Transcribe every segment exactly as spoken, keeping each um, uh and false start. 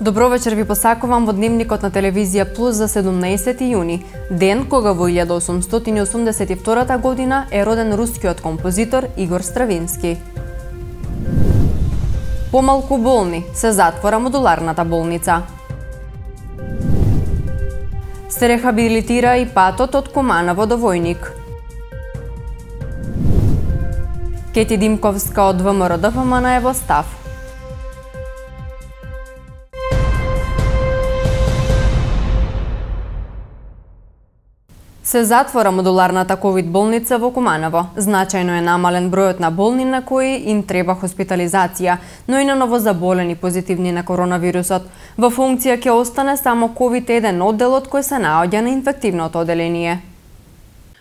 Добро вечер ви посакувам во дневникот на телевизија Плюс за седумнаесети јуни, ден кога во илјада осумстотини осумдесет и втора година е роден рускиот композитор Игор Стравински. Помалку болни, се затвора модуларната болница. Се рехабилитира и патот од Куманово до Војник. Кети Димковска од ВМРО-ДФМН е во став. Се затвора модуларната ковид болница во Куманово. Значајно е намален бројот на болни на кои им треба хоспитализација, но и на новозаболени позитивни на коронавирусот. Во функција ќе остане само ковид еден одделот кој се наоѓа на инфективното оделение.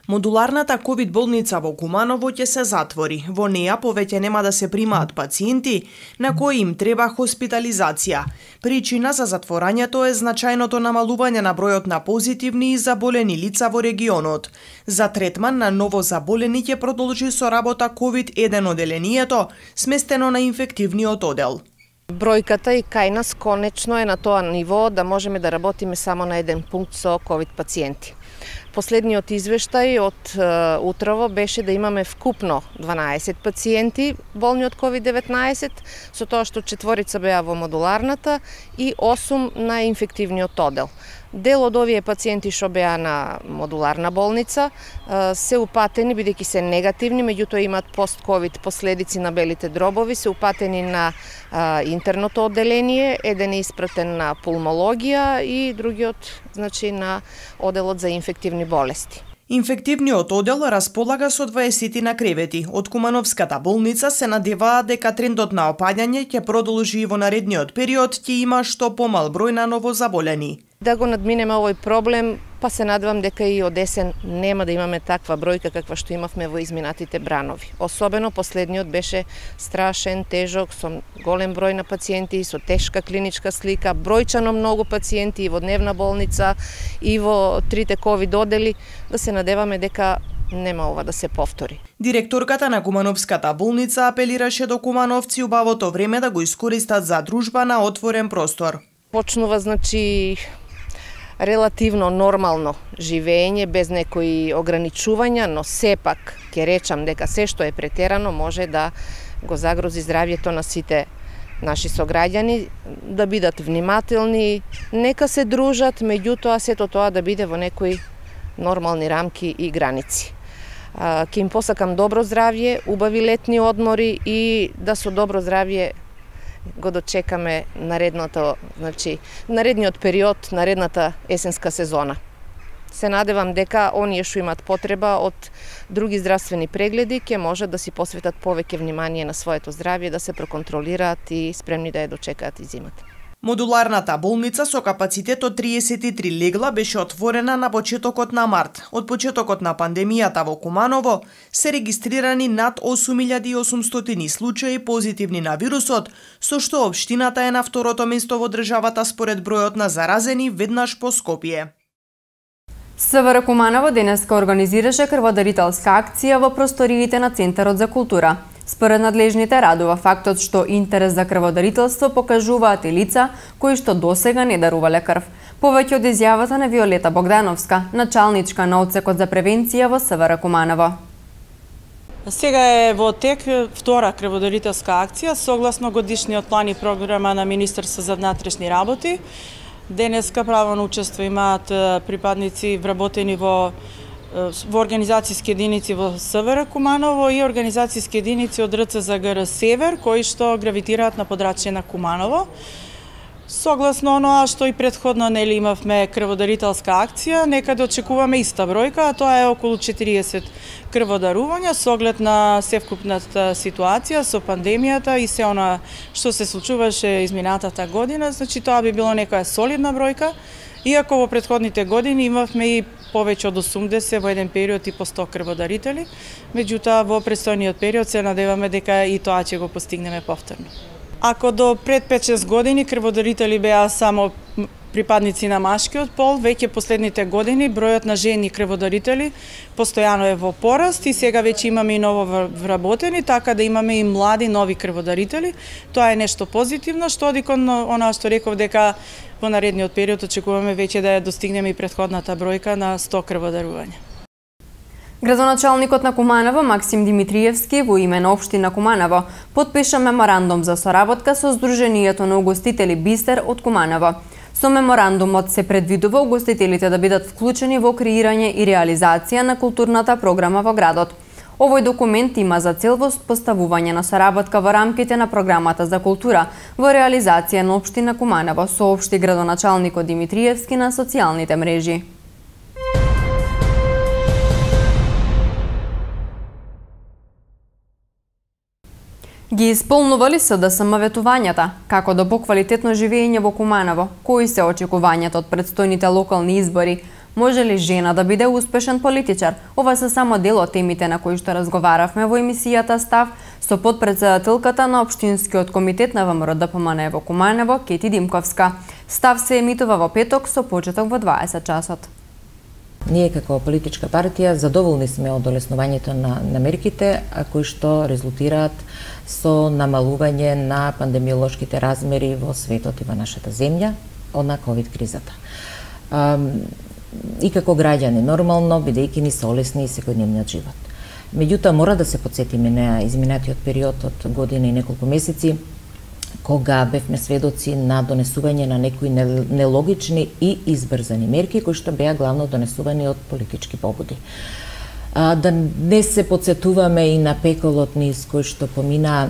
Модуларната ковид болница во Куманово ќе се затвори. Во неја повеќе нема да се примаат пациенти на кои им треба хоспитализација. Причина за затворањето е значајното намалување на бројот на позитивни и заболени лица во регионот. За третман на новозаболени ќе продолжи со работа ковид еден оделението, сместено на инфективниот одел. Бројката и кај нас конечно е на тоа ниво да можеме да работиме само на еден пункт со ковид пациенти. Последниот извештај од е, утрово беше да имаме вкупно дванаесет пациенти болни од ковид деветнаесет, со тоа што четворица беа во модуларната и осум на инфективниот одел. Дел од овие пациенти што беа на модуларна болница е, се упатени, бидејќи се негативни, меѓутоа имаат пост-ковид последици на белите дробови, се упатени на е, интерното одделение, еден е испратен на пулмологија и другиот значи на оделот за инфективни болести. Инфективниот одел располага со дваесет на кревети. Од Кумановската болница се надеваат дека трендот на опаѓање ќе продолжи и во наредниот период, ќе има што помал број на новозаболени. Да го надминеме овој проблем, па се надевам дека и од есен нема да имаме таква бројка каква што имавме во изминатите бранови. Особено последниот беше страшен, тежок, со голем број на пациенти, со тешка клиничка слика, бројчано многу пациенти и во дневна болница, и во трите ковид одели, да се надеваме дека нема ова да се повтори. Директорката на Кумановската болница апелираше до кумановци убавото време да го искористат за дружба на отворен простор. Почнува, значи, релативно нормално живење без некои ограничувања, но сепак ќе речам дека се што е претерано може да го загрози здравјето на сите наши сограѓани, да бидат внимателни, нека се дружат, меѓутоа сето тоа да биде во некои нормални рамки и граници. Ќе им посакам добро здравје, убави летни одмори и да со добро здравје го дочекаме наредното, значи, наредниот период, наредната есенска сезона. Се надевам дека оние што имат потреба од други здравствени прегледи ќе можат да си посветат повеќе внимание на своето здравје, да се проконтролираат и спремни да ја дочекаат и зимата. Модуларната болница со капацитет од триесет и три легла беше отворена на почетокот на март. Од почетокот на пандемијата во Куманово се регистрирани над осум илјади и осумстотини случаи позитивни на вирусот, со што општината е на второто место во државата според бројот на заразени веднаш по Скопје. СВР Куманово денеска организираше крводарителска акција во просториите на Центарот за култура. Според надлежните радува фактот што интерес за крводарителство покажуваат и лица кои што досега не дарувале крв. Повеќе од изјавата на Виолета Богдановска, началничка на одсекот за превенција во СВР Куманово. Сега е во тек втора крводарителска акција согласно годишниот план и програма на Министерство за внатрешни работи. Денеска право на учество имаат припадници вработени во во организацијски единици во СВР Куманово и организацијски единици од РЦЗГР Север, кои што гравитираат на подрачје на Куманово. Согласно оноа што и претходно нели имавме крводарителска акција, некаде очекуваме иста бројка, а тоа е околу четириесет крводарувања со оглед на севкупната ситуација со пандемијата и се она што се случуваше изминатата година, значи тоа би било некоја солидна бројка. Иако во претходните години имавме и повеќе од осумдесет во еден период и по сто крводарители, меѓутоа во престојниот период се надеваме дека и тоа ќе го постигнеме повторно. Ако до пред пет-шест години крводарители беа само припадници на машкиот пол, веќе последните години бројот на жени крводарители постојано е во пораст и сега веќе имаме и ново вработени, така да имаме и млади нови крводарители. Тоа е нешто позитивно, што одикон она што реков дека во наредниот период очекуваме веќе да ја достигнеме и претходната бројка на сто крводарувања. Градоначалникот на Куманово Максим Димитриевски во име на општина Куманово потпиша меморандум за соработка со Сдруженијето на угостители Бистер од Куманово. Со меморандумот се предвидува угостителите да бидат вклучени во креирање и реализација на културната програма во градот. Овој документ има за цел воспоставување на соработка во рамките на програмата за култура во реализација на општина Куманово, соопшти градоначалникот Димитриевски на социјалните мрежи. Ги исполнували се ДСМ ветувањата, како до поквалитетно живење во Куманово, кои се очекувањата од предстојните локални избори, може ли жена да биде успешен политичар? Ова се само дел од темите на кои што разговаравме во емисијата Став со подпредседателката на Општинскиот комитет на ВМРО-ДПМН во Куманово, Кети Димковска. Став се емитува во петок со почеток во дваесет часот. Ние како политичка партија задоволни сме од олеснувањето на, на мерките, а кои што резултираат со намалување на пандемиолошките размери во светот и во нашата земја од на ковид кризата. И како граѓани, нормално, бидејќи ни се олесни и секојдневниот живот. Меѓутоа, мора да се потсетиме на изминатиот период од година и неколку месеци, кога бевме сведоци на донесување на некои нелогични и избрзани мерки, кои што беа главно донесувани од политички побуди. А, да не се потсетуваме и на пеколот низ кој што помина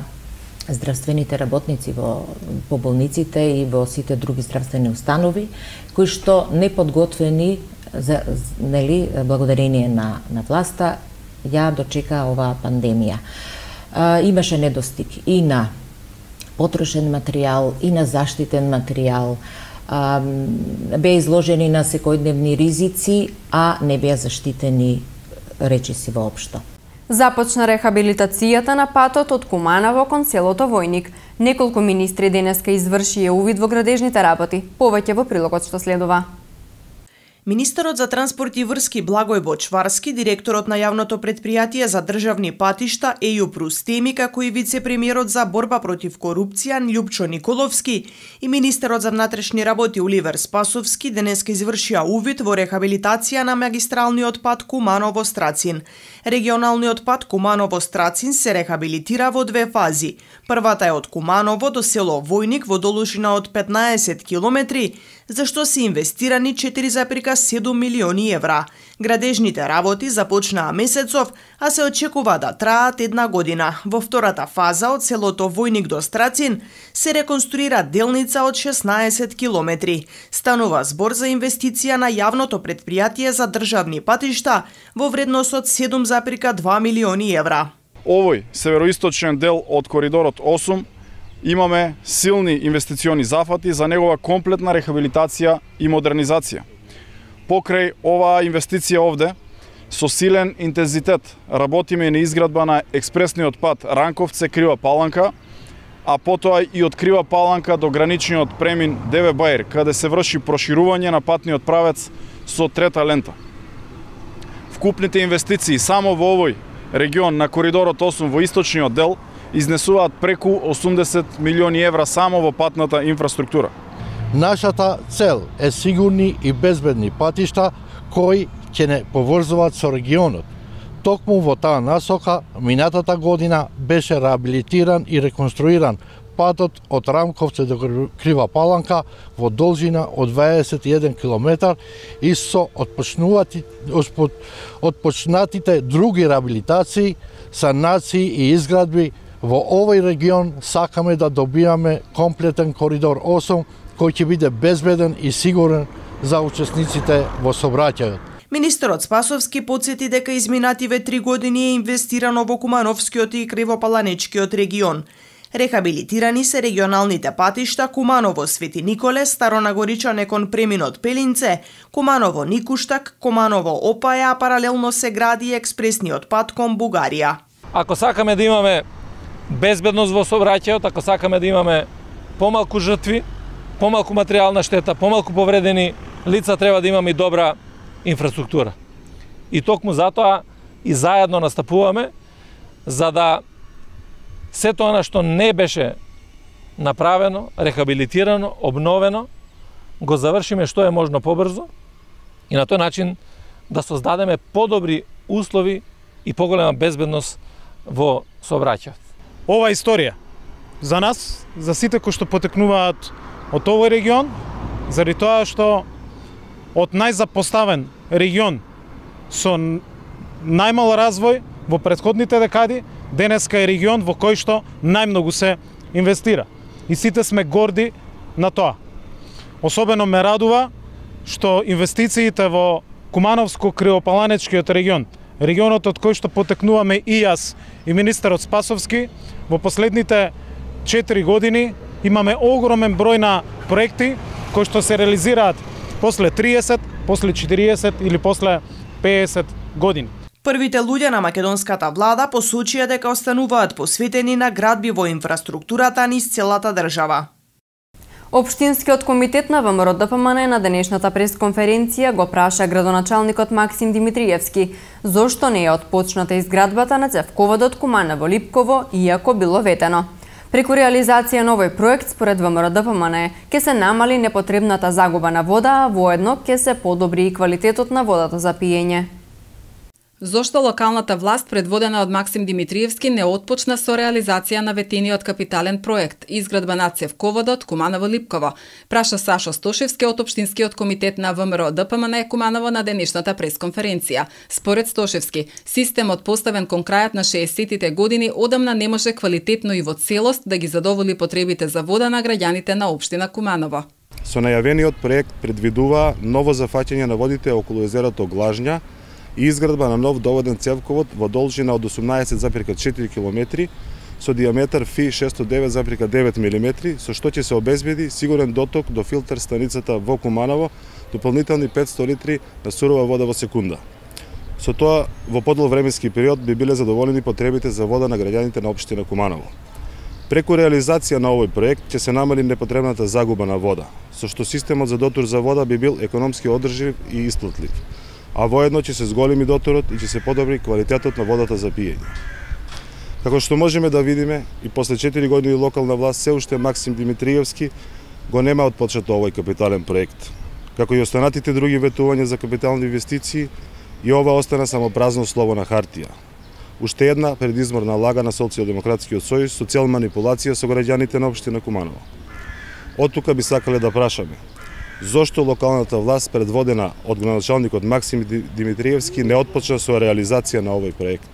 здравствените работници во по болниците и во сите други здравствени установи, кои што неподготвени за нели благодарение на на власта ја дочека оваа пандемија. А, имаше недостиг и на потрошен материјал и на заштитен материјал, а, беа изложени на секојдневни ризици, а не беа заштитени речиси воопшто. Започна рехабилитацијата на патот од Куманово кон селото Војник. Неколку министри денеска извршија увид во градежните работи. Повеќе во прилогот што следува. Министерот за транспорт и врски Благој Бочварски, директорот на јавното претпријатие за државни патишта Ејуп Рустеми, како и вице-премиерот за борба против корупција Љупчо Николовски и министерот за внатрешни работи Оливер Спасовски денеска извршија увид во рехабилитација на магистралниот пат Куманово-Страцин. Регионалниот пат Куманово-Страцин се рехабилитира во две фази. Првата е од Куманово до село Војник во должина од петнаесет километри, за што се инвестирани четири зарез седум милиони евра. Градежните работи започнаа месецов, а се очекува да траат една година. Во втората фаза од селото Војник до Страцин се реконструира делница од шеснаесет километри. Станува збор за инвестиција на јавното претпријатие за државни патишта во вредност од седум зарез два милиони евра. Овој североисточен дел од коридорот осум имаме силни инвестициони зафати за негова комплетна рехабилитација и модернизација. Покрај оваа инвестиција овде, со силен интензитет работиме на изградба на експресниот пат Ранковце Крива Паланка, а потоа и од Крива Паланка до граничниот премин Деве Бајер, каде се врши проширување на патниот правец со трета лента. Вкупните инвестиции само во овој регион на коридорот осум во источниот дел изнесуваат преку осумдесет милиони евра само во патната инфраструктура. Нашата цел е сигурни и безбедни патишта кои ќе не поврзуваат со регионот. Токму во таа насока, минатата година беше реабилитиран и реконструиран патот од Рамковце до Крива Паланка во должина од дваесет и еден километар и со отпочнатите други реабилитации, санации и изградби во овој регион сакаме да добиваме комплетен коридор осум кој ќе биде безбеден и сигурен за учесниците во сообраќајот. Министерот Спасовски потсети дека изминативе три години е инвестирано во Кумановскиот и Кривопаланечкиот регион. Рехабилитирани се регионалните патишта Куманово Свети Николе, Старонагоричане кон преминот Пелинце, Куманово Никуштак, Куманово Опаја, а паралелно се гради експресниот пат кон Бугарија. Ако сакаме да имаме безбедност во сообраќајот, ако сакаме да имаме помалку жртви, помалку материјална штета, помалку повредени лица, треба да имаме и добра инфраструктура. И токму затоа и заедно настапуваме за да се тоа што не беше направено, рехабилитирано, обновено, го завршиме што е можно побрзо и на тој начин да создадеме подобри услови и поголема безбедност во сообраќајот. Ова историја за нас, за сите кои што потекнуваат од овој регион, заради тоа што од најзапоставен регион со најмал развој во претходните декади, денеска е регион во кој што најмногу се инвестира. И сите сме горди на тоа. Особено ме радува што инвестициите во Кумановско-Криопаланечкиот регион, регионот од кој што потекнуваме и јас и министерот Спасовски, во последните четири години имаме огромен број на проекти кои што се реализираат после триесет, после четириесет или после пеесет години. Првите луѓе на македонската влада посочија дека остануваат посветени на градби во инфраструктурата низ целата држава. Општинскиот комитет на ВМРО Д П М Н на денешната пресконференција го праша градоначалникот Максим Димитриевски зошто не е отпочната изградбата на цевководот Куманово-Липково, иако било ветено. Преку реализација на овој проект, според ВМРО Д П М Н, ќе се намали непотребната загуба на вода, а воедно ќе се подобри и квалитетот на водата за пиење. Зошто локалната власт, предводена од Максим Димитриевски, не отпочна со реализација на ветениот капитален проект изградба на цевководот Куманово-Липково, праша Сашо Стошевски од Општинскиот комитет на ВМРО Д П М Н Куманово на денешната пресконференција. Според Стошевски, системот поставен кон крајот на шеесеттите години одамна не може квалитетно и во целост да ги задоволи потребите за вода на граѓаните на општина Куманово. Со најавениот проект предвидува ново зафаќање на водите околу езерото Глажња и изградба на нов доводен цевковод во должина од осумнаесет запирка четири километри со диаметар Ф И шестоста девет запирка девет милиметри, со што ќе се обезбеди сигурен доток до филтер станицата во Куманово, дополнителни петсто литри на сурова вода во секунда. Со тоа, во подол временски период би биле задоволени потребите за вода на граѓаните на општина Куманово. Преку реализација на овој проект ќе се намали непотребната загуба на вода, со што системот за дотур за вода би бил економски одржив и исплатлив, а воедно ќе се зголеми доторот и ќе се подобри квалитетот на водата за пиење. Како што можеме да видиме, и после четири години локална власт се уште Максим Димитриевски го нема отпочнато овој капитален проект. Како и останатите други ветувања за капитални инвестиции, и ова остана само празно слово на хартија. Уште една предизборна лага на Социјалдемократскиот сојуз со цел манипулација со граѓаните на општина Куманово. Оттука би сакале да прашаме: зошто локалната власт, предводена од градоначалникот Максим Димитриевски, не отпочна со реализација на овој проект?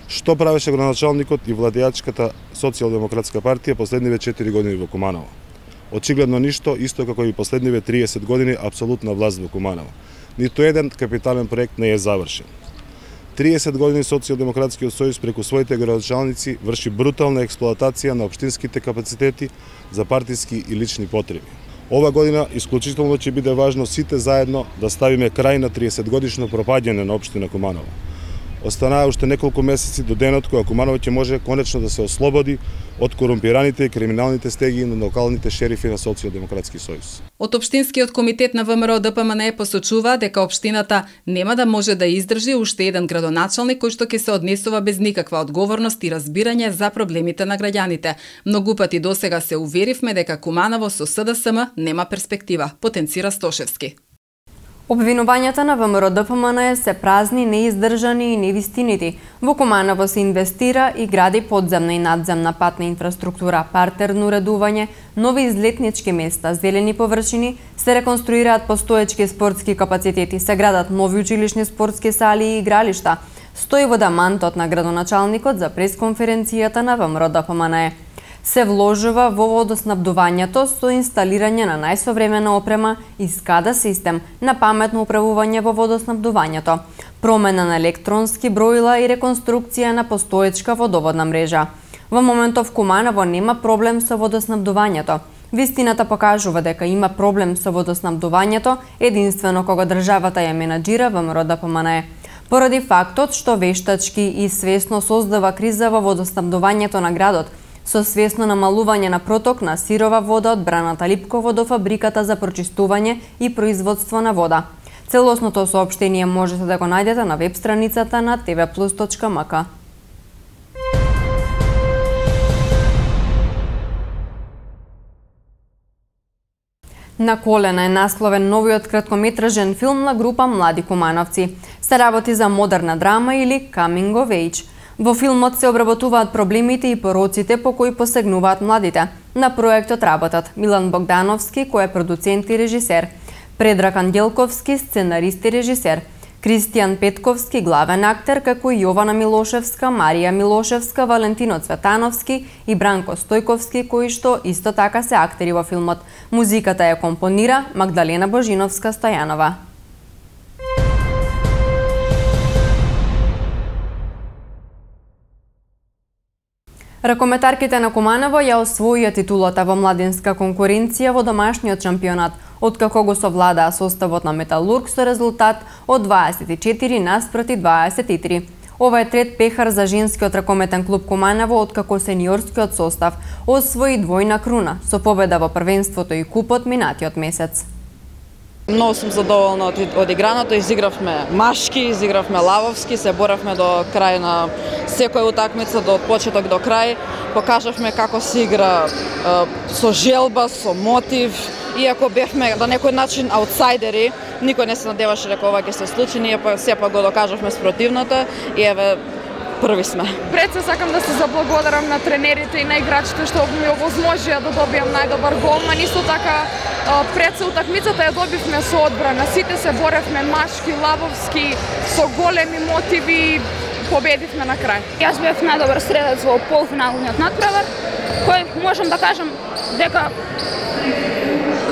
Што правеше градоначалникот и владеачката Социјалдемократска партија последниве четири години во Куманово? Очигледно ништо, исто како и последниве триесет години апсолутна власт во Куманово. Ниту еден капитален проект не е завршен. триесет години Социјалдемократскиот сојуз преку своите градоначалници врши брутална експлоатација на општинските капацитети за партиски и лични потреби. Ова година исклучително ќе биде важно сите заедно да ставиме крај на триесет годишно пропаѓање на општина Куманово. Останаа уште неколку месеци до денот кога Куманово ќе може конечно да се ослободи од корумпираните и криминалните стеги на локалните шерифи на Социјалдемократски сојуз. Од Општинскиот комитет на ВМРО Д П М Н посочува дека општината нема да може да издржи уште еден градоначалник кој што ќе се однесува без никаква одговорност и разбирање за проблемите на граѓаните. Многу пати досега се уверивме дека Куманово со С Д С М нема перспектива, потенцира Стошевски. Обвинувањата на ВМРО Д П М Н се празни, неиздржани и невистинити. Во Куманово се инвестира и гради подземна и надземна патна инфраструктура, партерно уредување, нови излетнички места, зелени површини, се реконструираат постоечки спортски капацитети, се градат нови училишни спортски сали и игралишта. Стои во дамантот на градоначалникот за пресконференцијата на ВМРО Д П М Н. Се вложува во водоснабдувањето со инсталирање на најсовремена опрема и скада систем на паметно управување во водоснабдувањето, промена на електронски броила и реконструкција на постоечка водоводна мрежа. Во моментов Куманово нема проблем со водоснабдувањето. Вистината покажува дека има проблем со водоснабдувањето единствено кога државата ја менаџира ВМРО Д П М Н. Поради фактот што вештачки и свесно создава криза во водоснабдувањето на градот, со свесно намалување на проток на сирова вода од браната Липково до фабриката за прочистување и производство на вода. Целосното соопштение можете да го најдете на веб страницата на те ве плюс точка ем ка. На колена е насловен новиот краткометражен филм на група млади кумановци. Се работи за модерна драма или coming of age. Во филмот се обработуваат проблемите и пороците по кои посегнуваат младите. На проектот работат Милан Богдановски, кој е продуцент и режисер, Предраг Ангелковски, сценарист и режисер, Кристијан Петковски, главен актер, како и Јована Милошевска, Марија Милошевска, Валентино Цветановски и Бранко Стојковски, кои што исто така се актери во филмот. Музиката ја компонира Магдалена Божиновска Стојанова. Ракометарките на Куманово ја освоија титулата во младинска конкуренција во домашниот шампионат, откако го совладаа составот на Металург со резултат од дваесет и четири наспроти дваесет и три. Ова е трет пехар за женскиот ракометен клуб Куманово, откако сениорскиот состав освои двојна круна со победа во првенството и купот минатиот месец. Многу сум задоволна од, од играното, изигравме машки, изигравме лавовски, се боравме до крај на секоја утакмица, до почеток до крај. Покажавме како се игра е, со желба, со мотив. Иако бевме на некој начин аутсайдери, никој не се надеваше дека ова ќе се случи, ние па сепак го докажавме спротивното и еве први сме. Пред се сакам да се заблагодарам на тренерите и на играчите што ми овозможија да добијам најдобар голман. Исто така пред се утакмицата ја добивме со одбрана. Сите се боревме машки, лавовски, со големи мотиви, победивме на крај. Јас бев најдобар средец во полуфиналниот натпревар, кој можам да кажам дека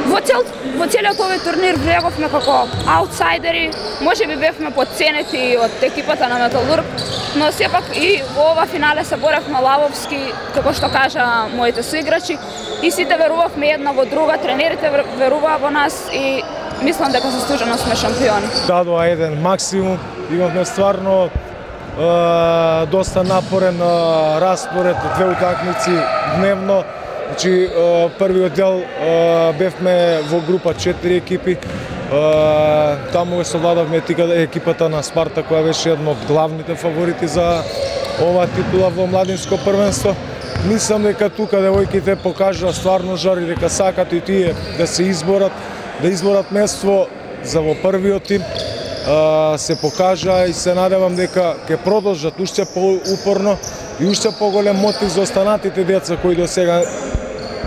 Во, цел, во целиот овој турнир влеговме како аутсайдери, може би бевме подценети од екипата на Металург, но сепак и во ова финале се боревме лавовски, како што кажа моите соиграчи, и сите верувавме една во друга, тренерите веруваа во нас и мислам дека заслужено сме шампиони. Дадоа еден максимум, имавме стварно е, доста напорен е, распоред, две утакмици дневно. Значи, првиот дел бевме во група четири екипи. Таму се совладавме екипата на Спарта, која беше една од главните фаворити за оваа титула во младинско првенство. Мислам дека тука девојките покажаа стварно жар и дека сакат и тие да се изборат, да изборат место за во првиот тим. Се покажа и се надевам дека ќе продолжат уште поупорно и уште поголем мотив за останатите деца кои до сега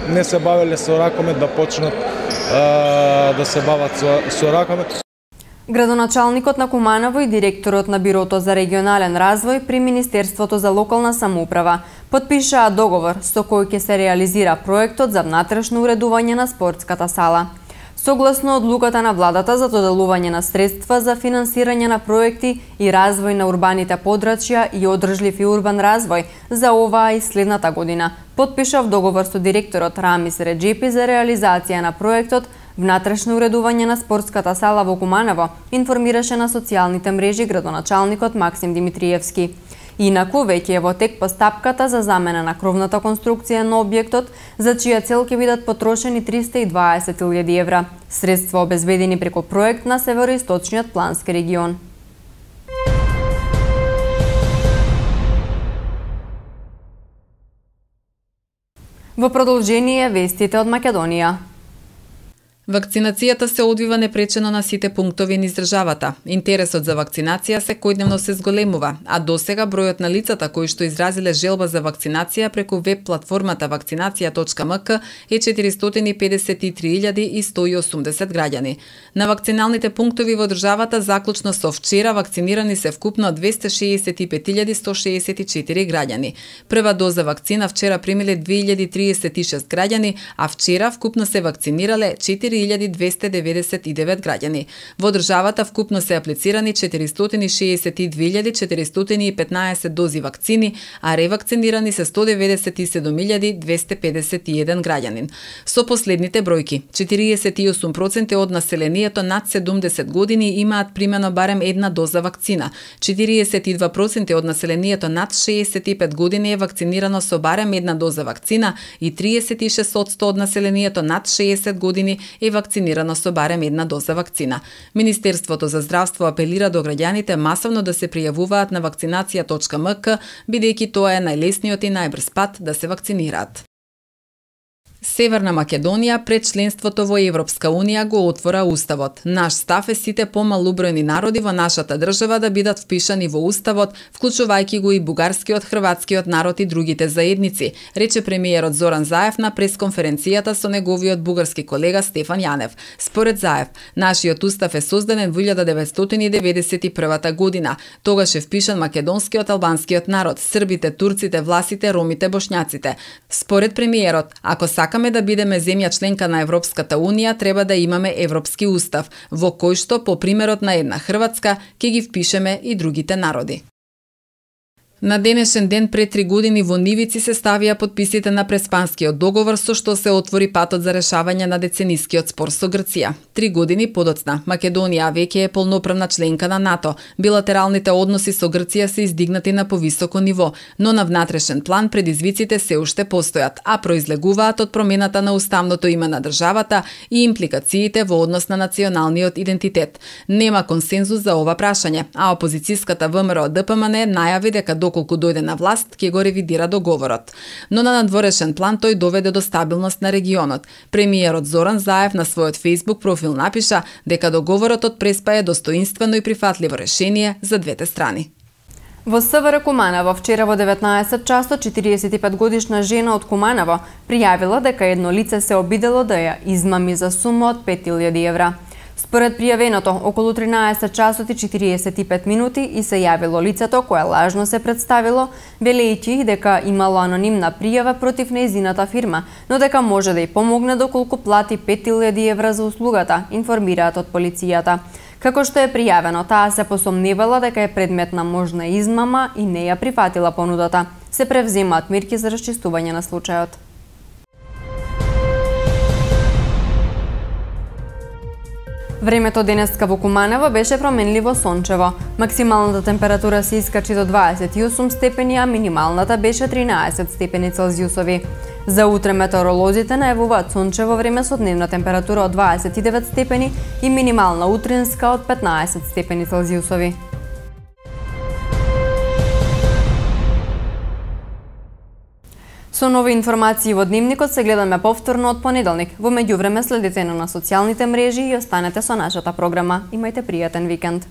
не се бавеле со ракомет да почнат а, да се бават со, со ракомет. Градоначалникот на Куманово и директорот на Бирото за регионален развој при Министерството за локална самоуправа потпишаа договор со кој ќе се реализира проектот за внатрешно уредување на спортската сала. Согласно одлуката на владата за доделување на средства за финансирање на проекти и развој на урбаните подрачја и одржлив и урбан развој за оваа и следната година, потпишав договор со директорот Рамис Реджепи за реализација на проектот внатрешно уредување на спортската сала во Куманово, информираше на социјалните мрежи градоначалникот Максим Димитриевски. Инаку, веќе е во тек постапката за замена на кровната конструкција на објектот, за чија цел ќе бидат потрошени триста и дваесет илјади евра. Средства обезбедени преку проект на Североисточниот плански регион. Во продолжение вестите од Македонија. Вакцинацијата се одвива непречено на сите пунктови низ државата. Интересот за вакцинација секојдневно се зголемува, а досега бројот на лицата кои што изразиле желба за вакцинација преку веб платформата вакцинација точка ем ка е четиристотини педесет и три илјади и сто и осумдесет граѓани. На вакциналните пунктови во државата заклучно со вчера вакцинирани се вкупно двесте шеесет и пет илјади сто шеесет и четири граѓани. Прва доза вакцина вчера примиле две илјади триесет и шест граѓани, а вчера вкупно се вакцинирале четири илјади двесте деведесет и девет граѓани. Во државата вкупно се аплицирани четиристотини шеесет и две илјади четиристотини и петнаесет дози вакцини, а ревакцинирани се сто деведесет и седум илјади двесте педесет и еден граѓанин. Со последните бројки, четириесет и осум проценти од населението над седумдесет години имаат примено барем една доза вакцина, четириесет и два проценти од населението над шеесет и пет години е вакцинирано со барем една доза вакцина и триесет и шест проценти од населението над шеесет години е вакцинирано со барем една доза вакцина. Министерството за здравство апелира до граѓаните масовно да се пријавуваат на вакцинација точка ем ка, бидејќи тоа е најлесниот и најбрз пат да се вакцинираат. Северна Македонија пред членството во Европска Унија го отвора Уставот. Наш став е сите помалубројни народи во нашата држава да бидат впишани во Уставот, вклучувајќи го и бугарскиот, хрватскиот народ и другите заедници, рече премиерот Зоран Заев на пресконференцијата со неговиот бугарски колега Стефан Јанев. Според Заев, нашиот устав е создаден во илјада деветстотини деветдесет и прва година. Тогаш е впишан македонскиот, албанскиот народ, србите, турците, власите, ромите, бошњаците. Според премиерот, ако сакаме да бидеме земја членка на Европската Унија, треба да имаме Европски устав, во кој што, по примерот на една Хрватска, ќе ги впишеме и другите народи. На денешен ден пред три години во Нивици се ставија потписите на Преспанскиот договор со што се отвори патот за решавање на деценискиот спор со Грција. Три години подоцна, Македонија веќе е полноправна членка на НАТО. Билатералните односи со Грција се издигнати на повисоко ниво, но на внатрешен план предизвиците се уште постојат, а произлегуваат од промената на уставното име на државата и импликациите во однос на националниот идентитет. Нема консензус за ова прашање, а опозицијската ВМРО Д П М Н најави дека доколку дојде на власт, ќе го ревидира договорот. Но на надворешен план тој доведе до стабилност на регионот. Премиерот Зоран Заев на својот Facebook профил напиша дека договорот од Преспа е достоинствено и прифатливо решение за двете страни. Во С В Р Куманово вчера во деветнаесет часот четириесет и пет годишна жена од Куманово пријавила дека едно лице се обидело да ја измами за сума од пет илјади евра. Според пријавеното, околу тринаесет часот и четириесет и пет минути и се јавило лицето кое лажно се представило, велејќи дека имало анонимна пријава против нејзината фирма, но дека може да ја помогне доколку плати пет илјади евра за услугата, информираат од полицијата. Како што е пријавено, таа се посомневала дека е предмет на можна измама и не ја прифатила понудата. Се превземаат мерки за расчистување на случајот. Времето денеска во Куманово беше променливо сончево. Максималната температура се искачи до дваесет и осум степени, а минималната беше тринаесет степени Целзиусови. За утре метеоролозите најавуваат сончево време со дневна температура од дваесет и девет степени и минимална утринска од петнаесет степени Целзиусови. Со нови информации во Дневникот се гледаме повторно од понеделник. Во меѓувреме следете на социјалните мрежи и останете со нашата програма. Имајте пријатен викенд.